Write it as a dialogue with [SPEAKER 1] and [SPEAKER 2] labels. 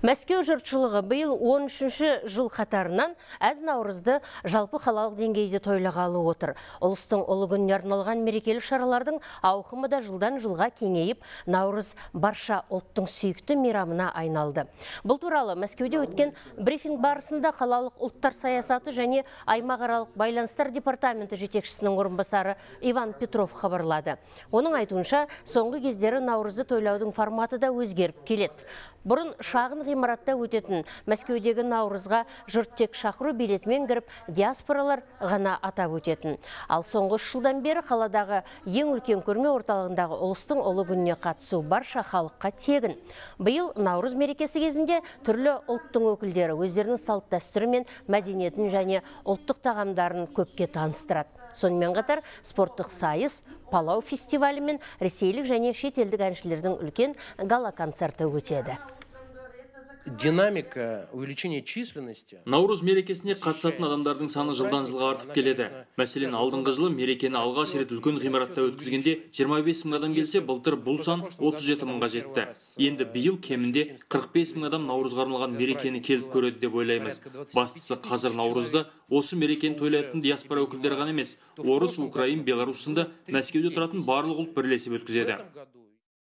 [SPEAKER 1] Мәскеу жұртшылығы биыл 13-ші жыл қатарынан әз наурызды жалпы қалалық деңгейде тойлағалы отыр. Ұлыстың ұлы күніне арналған мерекелік шаралардың ауқымы да жылдан жылға кеңейіп, наурыз барша ұлттың сүйікті мейрамына айналды. Бұл туралы Мәскеуде өткен брифинг барысында қалалық ұлттар саясаты және аймақаралық байланыстар департаменті жетекшісінің орынбасары Иван Петров хабарлады. Оның айтуынша, соңғы кездері наурызды тойлаудың форматы да өзгеріп келеді. Бұрын шағын ғимаратта өтетін Мәскеудегі наурызға жұрт тек шақыру билетімен кіріп, диаспоралар ғана атап өтетін. Ал соңғы 3 жылдан бері қаладағы ең үлкен көрме орталығындағы ұлыстың ұлы күніне қатысу барша халыққа тегін. Биыл наурыз мерекесі кезінде түрлі ұлттың өкілдері өздерінің салт дәстүрі мен мәдениетін және ұлттық тағамдарын көпке таныстырады. Сонымен қатар спорттық сайыс, палау фестивалі мен ресейлік және шетелдік әншілердің үлкен гала-концерті өтеді.
[SPEAKER 2] Динамика увеличения численности.
[SPEAKER 3] Наурыз мерекесіне қатысатын адамдардың саны жылдан жылға артып келеді. Мәселен, алдыңғы жылы мерекені алғаш рет үлкен ғимаратта өткізгенде 25 мың адам келсе, былтыр бұл сан 37 мыңға жетті. Енді биыл кемінде 45 мың адам наурызға арналған мерекені келіп көреді деп ойлаймыз. Бастысы қазір наурызды осы мерекені тойлайтын диаспора өкілдері ғана емес, орыс, украин, белорус сынды Мәскеуде тұратын барлық ұлт бірлесіп өткізеді.